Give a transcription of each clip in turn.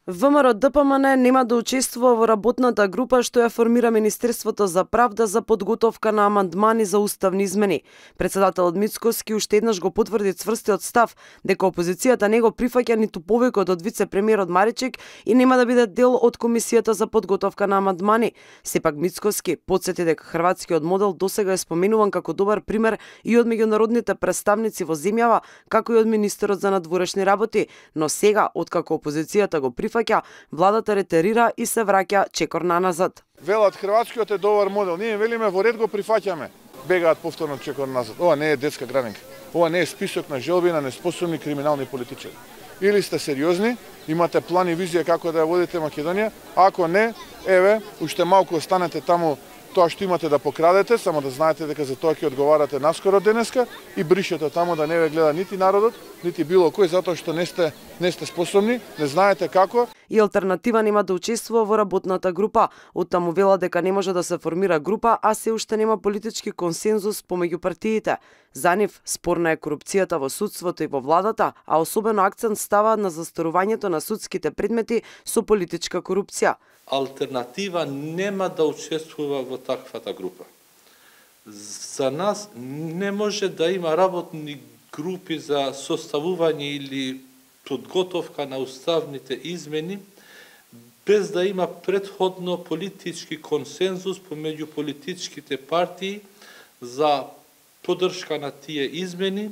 ВМРО-ДПМН нема да учествува во работната група што ја формира Министерството за правда за подготовка на амандмани за уставни измени. Председателот Мицкоски уште еднаш го потврди цврстиот став дека опозицијата не го прифаќа ниту повикот од вице-премиерот Маричек и нема да биде дел од комисијата за подготовка на амандмани. Сепак Мицкоски потсети дека хрватскиот модел досега е споменуван како добар пример и од меѓународните представници во земјава, како и од министерот за надворешни работи, но сега откако опозицијата го прифаќа, владата ретерира и се враќа чекор наназад. Велат хрватскиот е добар модел, ние велиме во ред го прифаќаме. Бегаат повторно чекор назад. Ова не е детска градинка. Ова не е список на желби на неспособни криминални политичари. Или сте сериозни, имате план и визија како да ја водите Македонија, ако не, еве, уште малку останете таму тоа што имате да покрадете, само да знаете дека за тоа ќе одговарате наскоро денеска и бришете таму да не ве гледа нити народот, нити било кој, затоа што не сте способни, не знаете како. И алтернатива нема да учествува во работната група. Оттаму вела дека не може да се формира група, а се уште нема политички консензус помеѓу партиите. За нив спорна е корупцијата во судството и во владата, а особено акцент става на застарувањето на судските предмети со политичка корупција. Алтернатива нема да учествува во таквата група. За нас не може да има работни групи за составување или подготовка на уставните измени без да има претходно политички консензус помеѓу политичките партии за поддршка на тие измени,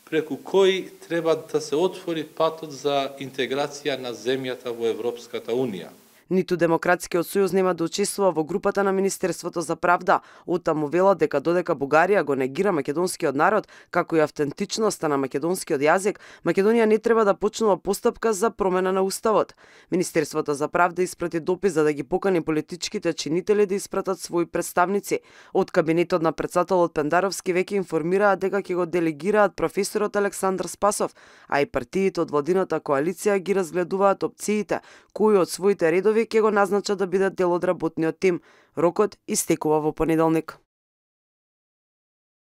преку кои треба да се отвори патот за интеграција на земјата во Европската Унија. Ниту Демократскиот сојуз нема да учествува во групата на Министерството за правда. Оттаму вела дека додека Бугарија го негира македонскиот народ, како и автентичноста на македонскиот јазик, Македонија не треба да почнува постапка за промена на уставот. Министерството за правда испрати допис за да ги покани политичките чинители да испратат своји представници. Од кабинетот на председателот Пендаровски веќе информираат дека ќе го делегираат професорот Александар Спасов, а и партиите од владината коалиција ги разгледуваат опциите, кои од своите редови ќе го назначат да бидат дел од работниот тим. Рокот истекува во понеделник.